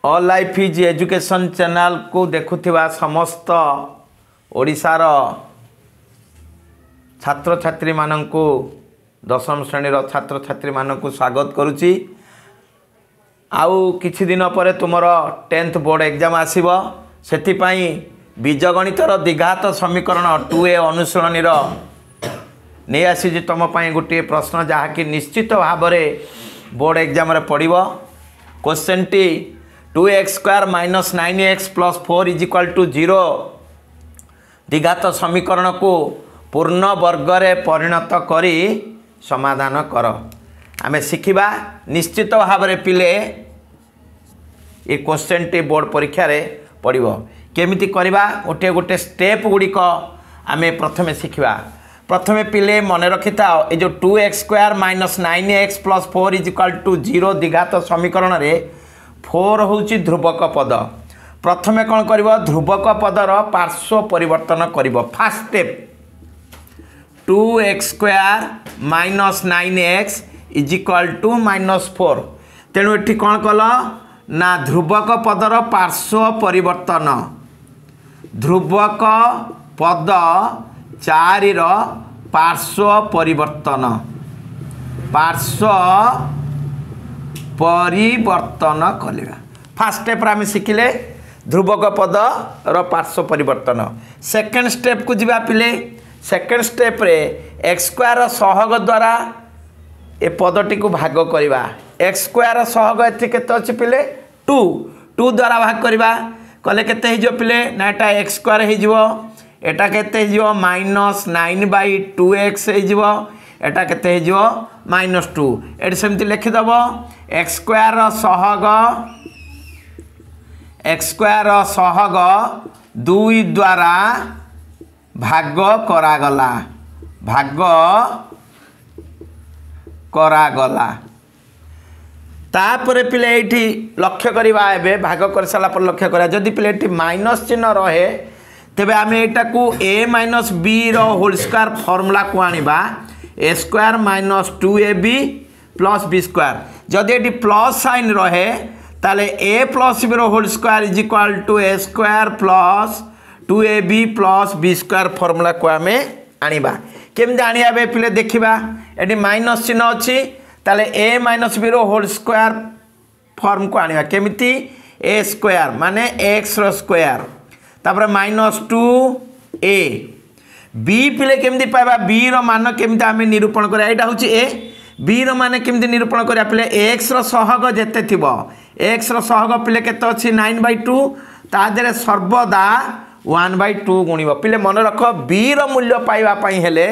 All life is education ଚ୍ୟାନେଲ୍କୁ ଦେଖୁଥିବା ସମସ୍ତ ଓଡ଼ିଶାର ଛାତ୍ରଛାତ୍ରୀମାନଙ୍କୁ, ଦଶମ ଶ୍ରେଣୀର ଛାତ୍ରଛାତ୍ରୀମାନଙ୍କୁ ସ୍ୱାଗତ କରୁଛି। ଆଉ କିଛି ଦିନ ପରେ ତୁମର 10th board exam ଆସିବ। ସେଥିପାଇଁ ବୀଜଗଣିତର ଦ୍ୱିଘାତ ସମୀକରଣ 2A ଅନୁଶୀଳନୀର ନେଇ ଆସିଛି ତୁମ ପାଇଁ ଗୋଟିଏ ପ୍ରଶ୍ନ, ଯାହାକି ନିଶ୍ଚିତ ଭାବରେ ବୋର୍ଡ଼ ଏକ୍ଜାମ୍ରେ ପଡ଼ିବ। କୋଶ୍ଚେନ୍ଟି 2x square minus 9x plus 4 is equal to 0 ଦ୍ୱିଘାତ ସମୀକରଣକୁ ପୂର୍ଣ୍ଣ ବର୍ଗରେ ପରିଣତ କରି ସମାଧାନ କର। ଆମେ ଶିଖିବା। ନିଶ୍ଚିତ ଭାବରେ ପିଲେ, ଏ କୋଶ୍ଚେନ୍ଟି ବୋର୍ଡ଼ ପରୀକ୍ଷାରେ ପଡ଼ିବ। କେମିତି କରିବା, ଗୋଟିଏ ଗୋଟିଏ ଷ୍ଟେପ୍ ଗୁଡ଼ିକ ଆମେ ପ୍ରଥମେ ଶିଖିବା। ପ୍ରଥମେ ପିଲେ ମନେ ରଖିଥାଅ, ଏ ଯେଉଁ 2x square minus 9x plus 4 is equal to 0 ଦ୍ୱିଘାତ ସମୀକରଣରେ 4 ହେଉଛି ଧ୍ରୁବକ ପଦ। ପ୍ରଥମେ କ'ଣ କରିବ? ଧ୍ରୁବକ ପଦର ପାର୍ଶ୍ୱ ପରିବର୍ତ୍ତନ କରିବ। First step, 2x square minus 9x is equal to minus 4। ତେଣୁ ଏଠି କ'ଣ କଲ ନା ଧ୍ରୁବକ ପଦର ପାର୍ଶ୍ୱ ପରିବର୍ତ୍ତନ, ଧ୍ରୁବକ ପଦ 4ର ପାର୍ଶ୍ୱ ପରିବର୍ତ୍ତନ, ପାର୍ଶ୍ୱ ପରିବର୍ତ୍ତନ କରିବା। ଫାର୍ଷ୍ଟ ଷ୍ଟେପ୍ରେ ଆମେ ଶିଖିଲେ ଧ୍ରୁବକ ପଦର ପାର୍ଶ୍ୱ ପରିବର୍ତ୍ତନ। ସେକେଣ୍ଡ ଷ୍ଟେପ୍କୁ ଯିବା ପିଲେ। ସେକେଣ୍ଡ ଷ୍ଟେପ୍ରେ ଏକ୍ସ ସ୍କୋୟାର ସହଗ ଦ୍ୱାରା ଏ ପଦଟିକୁ ଭାଗ କରିବା। ଏକ୍ସ ସ୍କୋୟାର ସହଗ ଏଠି କେତେ ଅଛି ପିଲେ? 2। 2 ଦ୍ୱାରା ଭାଗ କରିବା। କଲେ କେତେ ହେଇଯିବ ପିଲେ? ନା ଏଟା ଏକ୍ସ ସ୍କୋୟାର ହେଇଯିବ। ଏଟା କେତେ ହେଇଯିବ? ମାଇନସ୍ 9 ବାଇ 2 ଏକ୍ସ ହେଇଯିବ। ଏଟା କେତେ ହେଇଯିବ? ମାଇନସ୍ 2। ଏଠି ସେମିତି ଲେଖିଦେବ, ଏକ୍ସ ସ୍କୋୟାର ସହଗ, ଏକ୍ସ ସ୍କୋୟାର ସହଗ 2 ଦ୍ୱାରା ଭାଗ କରାଗଲା, ଭାଗ କରାଗଲା। ତାପରେ ପିଲେ ଏଇଠି ଲକ୍ଷ୍ୟ କରିବା। ଏବେ ଭାଗ କରିସାରିଲା ପରେ ଲକ୍ଷ୍ୟ କରିବା, ଯଦି ପିଲେ ଏଠି ମାଇନସ୍ ଚିହ୍ନ ରହେ, ତେବେ ଆମେ ଏଇଟାକୁ ଏ ମାଇନସ୍ ବିର ହୋଲ୍ ସ୍କୋୟାର ଫର୍ମୁଲାକୁ ଆଣିବା, a square minus 2ab plus b square। ଯଦି ଏଠି ପ୍ଲସ୍ ସାଇନ୍ ରହେ, ତାହେଲେ ଏ plus Veer whole square is equal to a square plus 2ab plus b square ଫର୍ମୁଲାକୁ ଆମେ ଆଣିବା। କେମିତି ଆଣିବା ଏବେ ପିଲେ ଦେଖିବା। ଏଠି ମାଇନସ୍ ଚିହ୍ନ ଅଛି, ତାହେଲେ ଏ ମାଇନସ୍ ବିର ହୋଲ୍ ସ୍କୋୟାର ଫର୍ମକୁ ଆଣିବା। କେମିତି? ଏ ସ୍କୋୟାର ମାନେ ଏକ୍ସର ସ୍କୋୟାର, ତାପରେ ମାଇନସ୍ 2 ଏ ବି। ପିଲେ କେମିତି ପାଇବା? ବିର ମାନ କେମିତି ଆମେ ନିରୂପଣ କରିବା? ଏଇଟା ହେଉଛି ଏ। ବିର ମାନେ କେମିତି ନିରୂପଣ କରିବା ପିଲେ? ଏକ୍ସର ସହଗ ଯେତେ ଥିବ, ଏକ୍ସର ସହଗ ପିଲେ କେତେ ଅଛି? 9 ବାଇ 2। ତା ଦେହରେ ସର୍ବଦା 1 ବାଇ 2 ଗୁଣିବ। ପିଲେ ମନେ ରଖ, ବିର ମୂଲ୍ୟ ପାଇବା ପାଇଁ ହେଲେ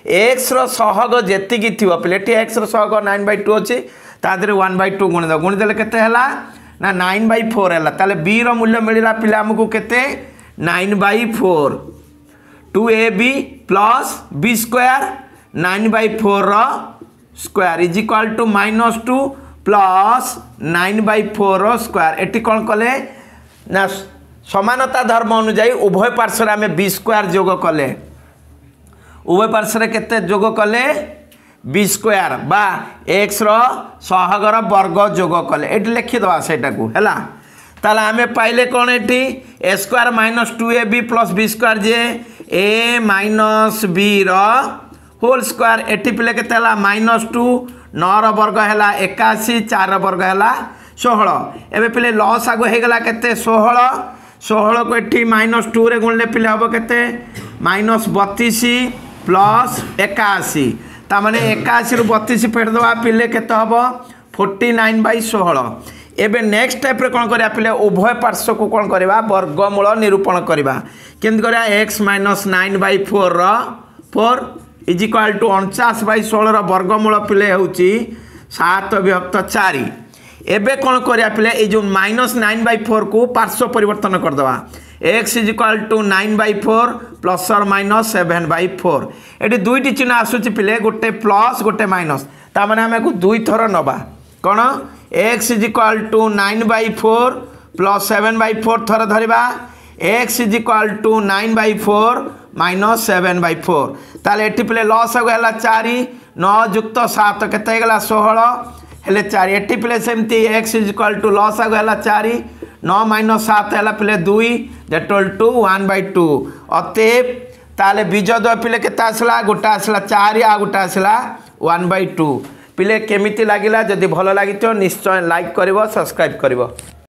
ଏକ୍ସର ସହଗ ଯେତିକି ଥିବ, ପିଲେ ଏଠି ଏକ୍ସର ସହଗ 9 ବାଇ 2 ଅଛି, ତା ଦେହରେ 1 ବାଇ 2 ଗୁଣିଦେବ। ଗୁଣିଦେଲେ କେତେ ହେଲା? ନା 9 ବାଇ 4 ହେଲା। ତାହେଲେ ବିର ମୂଲ୍ୟ ମିଳିଲା ପିଲେ ଆମକୁ କେତେ? 9 Bai 4। 2ab plus b square, 9 by 4 square is equal to minus 2 plus 9 by 4 square। ଏଠି କ'ଣ କଲେ ନା ସମାନତା ଧର୍ମ ଅନୁଯାୟୀ ଉଭୟ ପାର୍ଶ୍ୱରେ ଆମେ ବି ସ୍କୋୟାର ଯୋଗ କଲେ। ଉଭୟ ପାର୍ଶ୍ୱରେ କେତେ ଯୋଗ କଲେ? ବି ସ୍କୋୟାର ବା ଏକ୍ସର ସହଗର ବର୍ଗ ଯୋଗ କଲେ। ଏଠି ଲେଖିଦେବା ସେଇଟାକୁ। ହେଲା, ତାହେଲେ ଆମେ ପାଇଲେ କ'ଣ ଏଠି? A square minus 2ab plus b square, ଯେ ଏ ମାଇନସ୍ ବିର ହୋଲ୍ ସ୍କୋୟାର। ଏଠି ପିଲେ କେତେ ହେଲା? ମାଇନସ୍ 2, 9ର ବର୍ଗ ହେଲା 81, 4ର ବର୍ଗ ହେଲା 16। ଏବେ ପିଲେ ଲସାଗୁ ହେଇଗଲା କେତେ? 16। 16କୁ ଏଠି ମାଇନସ୍ 2ରେ ଗୁଣିଲେ ପିଲେ ହେବ କେତେ? Minus 32 plus 81। ତାମାନେ 81ରୁ 32 ଫେରିଦେବା ପିଲେ, କେତେ ହେବ? 49 ବାଇ 16। ଏବେ ନେକ୍ସଟ ଷ୍ଟେପ୍ରେ କ'ଣ କରିବା ପିଲେ? ଉଭୟ ପାର୍ଶ୍ୱକୁ କ'ଣ କରିବା? ବର୍ଗମୂଳ ନିରୂପଣ କରିବା। କେମିତି କରିବା? ଏକ୍ସ ମାଇନସ୍ 9 ବାଇ 4ର 4 is equal to 49 Bai 16ର ବର୍ଗମୂଳ ପିଲେ ହେଉଛି 7 ବିଭକ୍ତ 4। ଏବେ କ'ଣ କରିବା ପିଲେ? ଏଇ ଯେଉଁ ମାଇନସ୍ 9 ବାଇ 4କୁ ପାର୍ଶ୍ୱ ପରିବର୍ତ୍ତନ କରିଦେବା। X is equal to 9 by 4 plus or minus 7 by 4। ଏଠି ଦୁଇଟି ଚିହ୍ନ ଆସୁଛି ପିଲେ, ଗୋଟେ ପ୍ଲସ୍ ଗୋଟେ ମାଇନସ୍। ତାମାନେ ଆମେ ଆକୁ ଦୁଇଥର ନେବା। କ'ଣ? X is equal to 9 by 4 plus 7 by 4 ଥର ଧରିବା, x is equal to 9 by 4 minus 7 by 4। ତାହେଲେ ଏଠି ପିଲେ ଲସାଗୁ ହେଲା 4, 9 ଯୁକ୍ତ 7 କେତେ ହେଇଗଲା? 16 ହେଲେ 4। ଏଠି ପିଲେ ସେମିତି ଏକ୍ସ is equal to ଲସାଗୁ ହେଲା 4, 9 ମାଇନସ୍ 7 ହେଲା ପିଲେ 2, that two 1/2। ଅତଏବ ତାହେଲେ ବୀଜଦ୍ୱୟ ପିଲେ କେତେ ଆସିଲା? ଗୋଟେ ଆସିଲା 4, ଆଉ ଗୋଟେ ଆସିଲା 1/2। ପିଲେ, କେମିତି ଲାଗିଲା? ଯଦି ଭଲ ଲାଗିଥିବ, ନିଶ୍ଚୟ ଲାଇକ୍ କରିବ, ସବସ୍କ୍ରାଇବ୍ କରିବ।